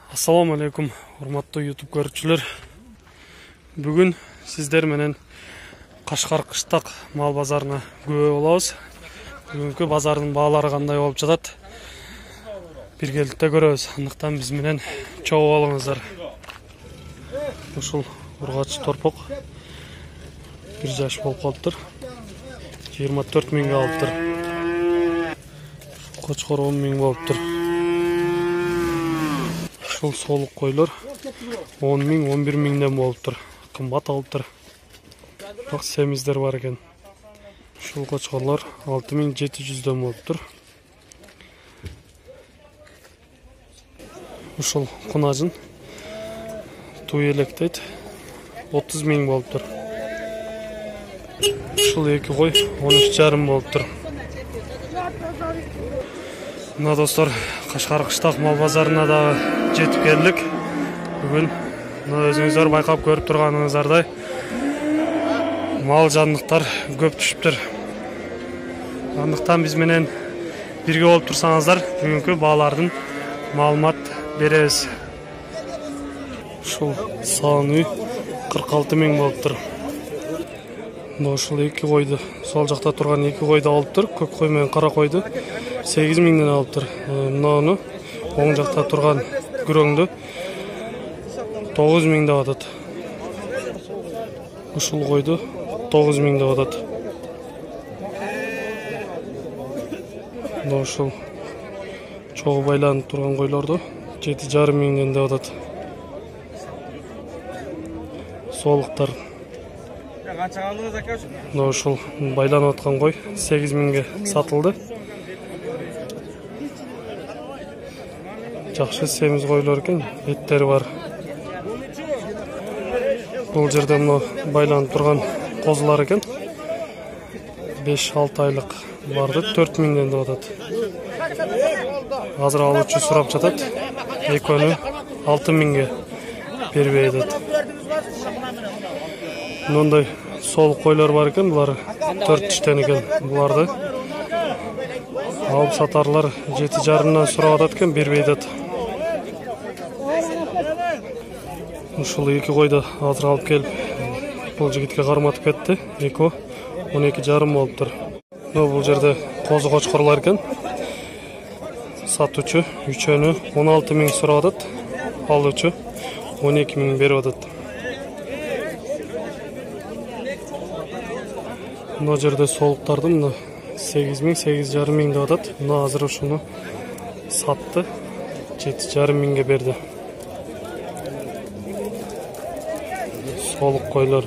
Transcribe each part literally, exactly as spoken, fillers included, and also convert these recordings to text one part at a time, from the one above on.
Assalamu alaikum, урматтуу YouTube көрүүчүлөр. Бүгүн сиздер менен Кашкар кыштак мал базарына күбө болобуз. Бүгүнкү базардын баалары кандай болуп жатат? Биргеликте көрөбүз. Андыктан биз менен чогуу болуңуздар. Ушул ургач торпок бир жаш болуп калыптыр. жыйырма төрт миңге алыптыр. Кочкор он миң болуптур. Ушул солук койлор он миң, он бир миңден болуптур. Кымбат алыптыр. Бак семиздер бар экен. Ушул кочкорлор алты миң жети жүздөн болуптур. Ушул кунажын туу электейт отуз миң болуптур. Ушул эки кой он үч жарым болуптур. Мына достор, Кашкар кыштак мал базарына дагы жетип келдик. Бүгүн өзүңүздөр байкап көрүп турганыңыздардай мал жандыктар көп түшүптүр. Андыктан биз менен бирге болуп турсаңыздар, бүгүнкү баалардын маалымат беребиз. Ушул сааны кырк алты миң болуптур. Ушул эки койду, сол жакта турган эки койду алыптыр. Көк кой менен кара койду сегиз миңден алыптыр. Мынаны оң жакта турган күрөңдү тогуз миң деп атат. Ушул койду тогуз миң деп атат. Ушул чогуу байланып турган койлорду жети жарым миңден деп атат. Солуктар. Ушул байланып аткан кой сегиз миңге сатылды. Жакшы семиз койлор экен, эттери бар. Бул жерде мына байланып турган козулар экен. беш алты айлык барды төрт миңден деп атат. Азыр алуучу сурап жатат. Экөөнү алты миңге бербей атат. Мындай солук койлор бар экен, булар төрт тиштен экен. Буларды алып сатарлар жети жарымдан сурап атат экен, бербей атат. Ушул эки койду азыр алып келип, бул жигитке карматып кетти. Эки он эки жарым болуптур. Бул жерде козу кочкорлор экен. Сатуучу үчөөнү он алты миң сурап атат. Алуучу он эки миң берип атат. Мына жерде солуктарды мына сегиз миң, сегиз жарым миң деп атат. Мына азыр ушуну сатты. жети жарым миңге берди. Солук койлор.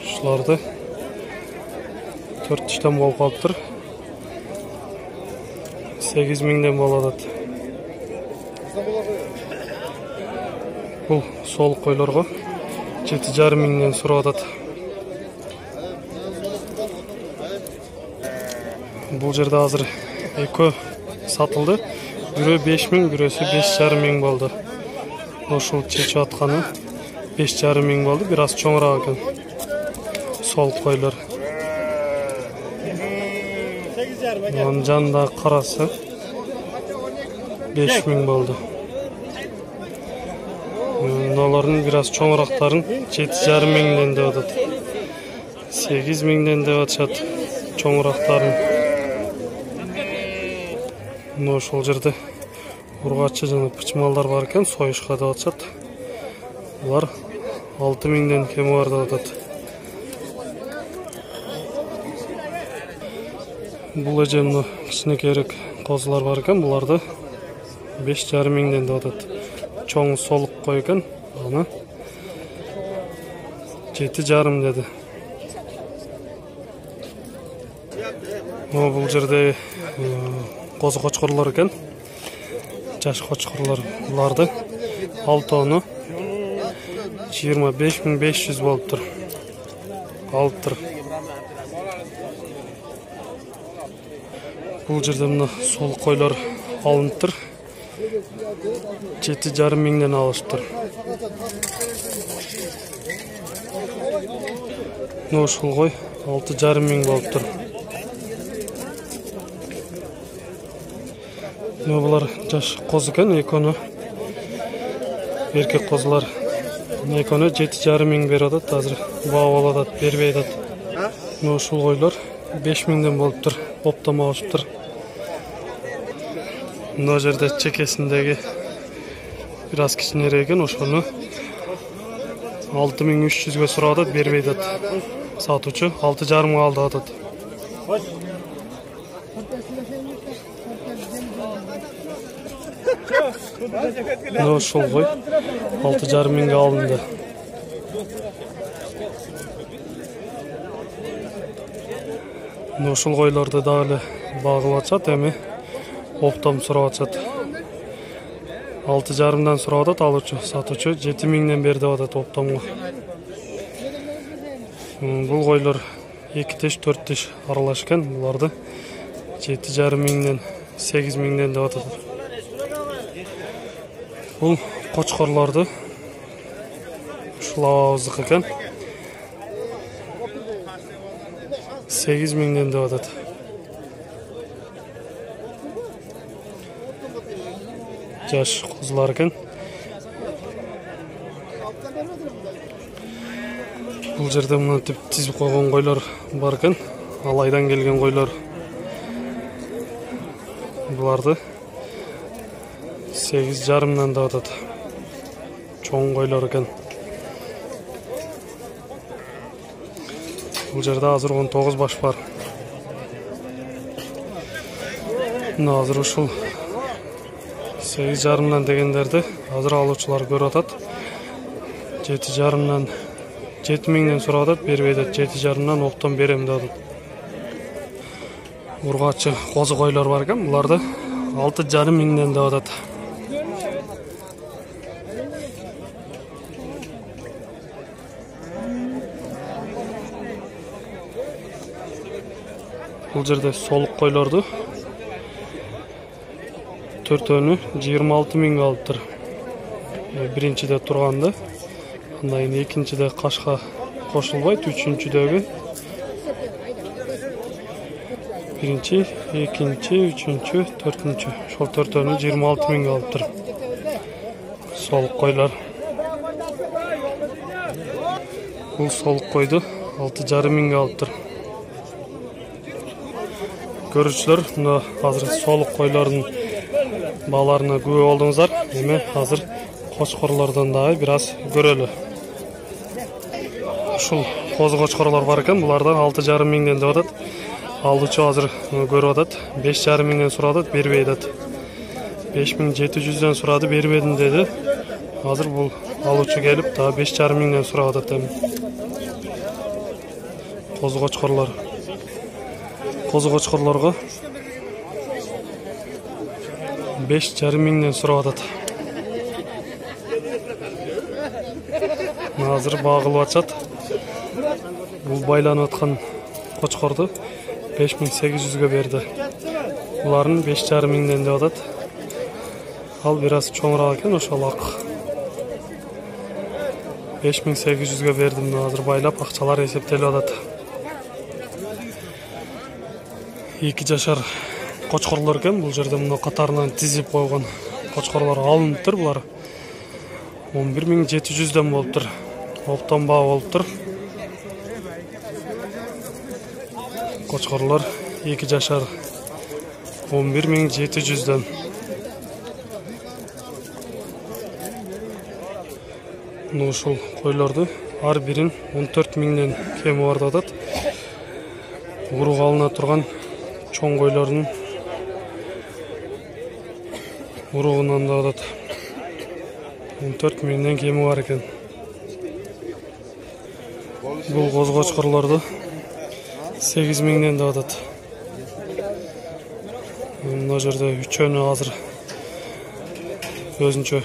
Ушуларды төрт тиштен болуп калыптыр. сегиз миңден болуп атат. Бул солук койлорго жети жарым миңден сурап атат. Бул жерде азыр экөө сатылды. Бирөө беш миң, бирөөсү беш жарым миң болду. Ошол чечип атканы беш жарым миң болду, бир аз чоңураак экен. Солук койлор. Анын жанында карасы беш миң болду. Мыналардын бир аз чоңурактарын жети жарым миңден деп атат. сегиз миңден деп атышат чоңурактарын. Мына ошол жерде ургачы жана пычмалдар бар экен, союшка деп атышат. Булар алты миңден кеми бар деп атат. Бул эже мына кичинекейирээк козулар бар экен, буларды беш жарым миңден деп атат. Чоң солук кой экен, аны жети жарым деди. Мына бул жерде козу кочкорлор экен. Жаш кочкорлор, буларды алтоону жыйырма беш миң беш жүз болуптур. Алыптыр. Бул жерде мына солук койлор алыныптыр. жети жарым миңден алышыптыр. Мына ушул кой алты жарым миң болуптур. Булар жаш коз экен, экөөнү эркек козулар. Экөөнү жети жарым миң берип атат, азыр баа болуп атат, бербей атат. Ушул койлор беш миңден болуптур, оптом алышыптыр. Мына жерде чекесиндеги бир аз кичинерээк экен, ошону алты миң үч жүзгө сурап атат, бербей атат. Сатуучу алты жарымга алды атат. Мына ошол кой алты жарым миңге алынды. Мына ушул койлорду дагы багылып атышат, эми оптом сурап атышат. алты жарымдан сурап атат алуучу, сатуучу жети миңден бер деп атат оптомго. Бул койлор эки тиш, төрт тиш аралаш экен, буларды жети жарым миңден, сегиз миңден деп атат. Бул кочкорлорду ушул абабыздыкы экен. сегиз миңден деп атат. Жаш козулар экен. Бул жерде мынтип тизип койгон койлор бар экен. Алайдан келген койлор. Буларды сегиз жарымдан деп атат. Чоң койлор экен. Бул жерде азыр он тогуз баш бар. Мына азыр ушул сегиз жарымдан дегендерди азыр алуучулар көрүп атат. жети жарымдан, жети миңден сурап атат, бербей атат. жети жарымдан оптом берем деп атат. Ургачы козу койлор бар экен, буларды алты жарым миңден деп атат. Бул жерде солук койлорду төртөөнү жыйырма алты миңге алыптыр. Биринчиде турганды, андан кийин экинчиде кашка кошулбайт, үчүнчүдөгү биринчи, экинчи, үчүнчү, төртүнчү. Ошол төртөөнү жыйырма алты миңге алыптыр. Солук койлор. Бул солук койду алты жарым миңге алыптыр. Көрүүчүлөр, мына азыр солук койлордун бааларына күбө болдуңуздар. Эми азыр кочкорлордон дагы бир аз көрөлү. Ушул козу кочкорлор бар экен, булардан алты жарым миңден деп атат. Алуучу азыр көрүп атат, беш жарым миңден сурап атат, бербей атат. беш миң жети жүздөн сурады, бербедим деди. Азыр бул алуучу келип, дагы беш жарым миңден сурап атат эми. Козу кочкорлор. Козу кочкорлорго беш жарым миңден сурап атат. Азыр багылып атышат. Бул байланып аткан кочкорду беш миң сегиз жүзгө берди. Буларын беш жарым миңден деп атат. Ал бир аз чоңураак экен, ошол ак. беш миң сегиз жүзгө бердим. Азыр байлап акчалар эсептелип атат. Эки жашар кочкорлор экен, бул жерде мына катарынан тизип койгон кочкорлор алыныптыр. Булар он бир миң жети жүздөн болуптур. Оптом баа болуптур. Кочкорлор эки жашар он бир миң жети жүздөн. Мына ушул койлорду ар бирин он төрт миңден кеми бар деп атат. Урук алына турган чоң койлордун уругунан деп атат. он төрт миңден кеми бар экен. Бул козу кочкорлорду сегиз миңден деп атат. Мына жерде үчөөнү азыр өзүнчө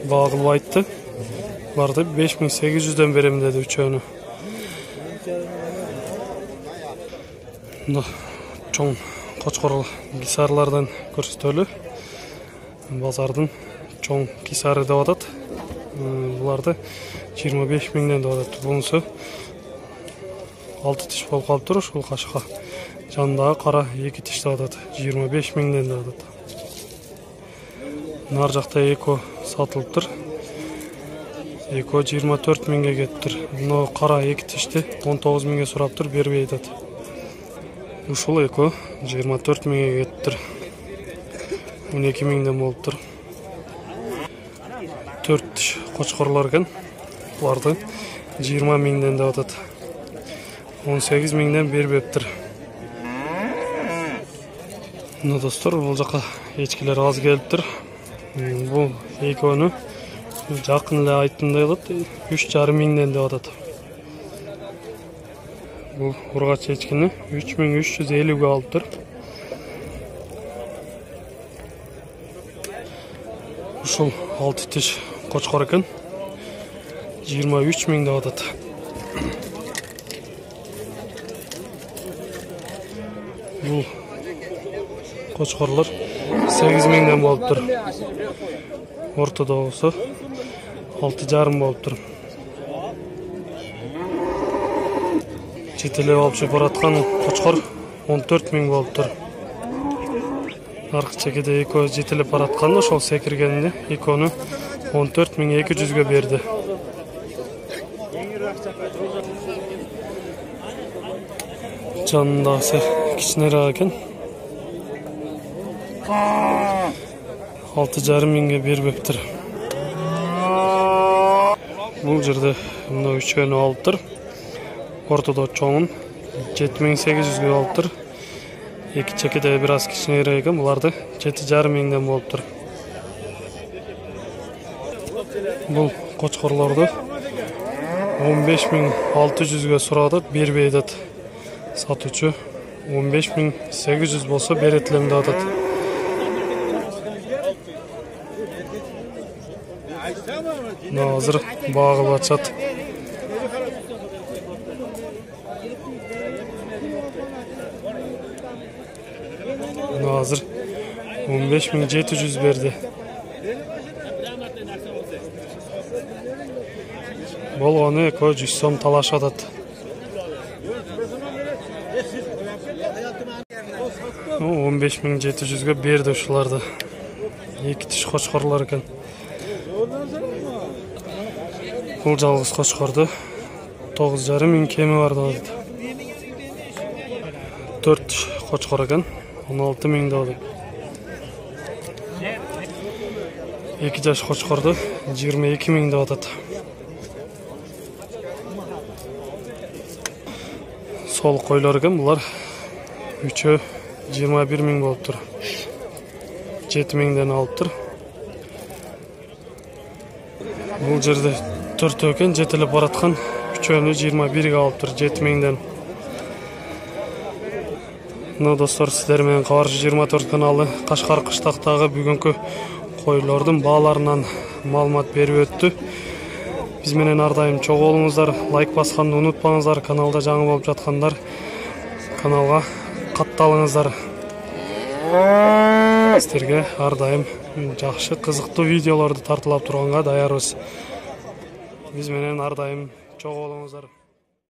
баа кылып айтты. Буларды беш миң сегиз жүздөн берем деди үчөөнү. Мына чоң кочкор кисарлардан көрсөтөлү. Базардын чоң кисары деп атат. Буларды жыйырма беш миңден деп атат. Бунусу алты тиш болуп калыптыр, ушул кашка. Жанындагы кара эки тиш деп атат. жыйырма беш миңден деп атат. Нар жакта эко сатылыптыр. Эко жыйырма төрт миңге кетиптир. Мына кара эки тишти он тогуз миңге сураптыр, бербей атат. Ушул эко жыйырма төрт миңге кетиптир. он эки миңден болуптур. төрт тиш кочкорлор экен. Буларды жыйырма миңден деп атат. он сегиз миңден бербептир. Мына достор, бул жака эчкилер аз келиптир. Бул экөөнү жакын эле айттымдай кылат, үч жарым миңден деп атат. Бул ургач эчкини үч миң үч жүз элүүгө алыптыр. Ушул алты тиш кочкор экен. жыйырма үч миң деп атат. Бул кочкорлор сегиз миңден болуптур. Ортодо болсо алты жарым болуптур. Четелеп алып чыгып бараткан кочкор он төрт миң болуптур. Аркы чекеде эко жетелеп бараткан, ошол секиргенде экөөнү он төрт миң эки жүзгө берди. Жанындагысы кичинерээк экен. алты жарым миңге бербептир. Бул жерде мына үчөөнү алыптыр. Ортодо чоңун жети миң сегиз жүзгө алыптыр. Эки чекеде бир аз кичинерээк экен, буларды жети жарым миңден болуптур. Бул кочкорлорду он беш миң алты жүзгө сурады, бербей атат. Сатуучу он беш миң сегиз жүз болсо берет элем деп атат. Мына азыр багылып атышат. Мына азыр он беш миң жети жүз берди. Болгону эко жүз сом талашып атат. он беш миң жети жүзгө берди ушуларды. Эки тиш кочкорлор экен. Бул жалгыз кочкорду тогуз жарым миң кеми бар деп атат. төрт тиш кочкор экен, он алты миң деп атат. эки жаш кочкорду жыйырма эки миң деп атат. Сол койлор экен, булар үчөө жыйырма бир миң болуптур. жети миңден алыптыр. Бул жерде төртөө экен, жетелеп бараткан үчөөнү жыйырма бирге алыптыр, жети миңден. Мына достор, сиздер менен Кабарчы жыйырма төрт каналы Кашкар кыштактагы бүгүнкү койлордун бааларынан маалымат берип өттү. Биз менен ар дайым чогуу болуңуздар, лайк басканды унутпаңыздар, каналда жаңы болуп жаткандар каналга катталыңыздар. Сиздерге ар дайым жакшы, кызыктуу видеолорду тартуулап турганга даярбыз. Биз менен ар дайым чогуу болуңуздар.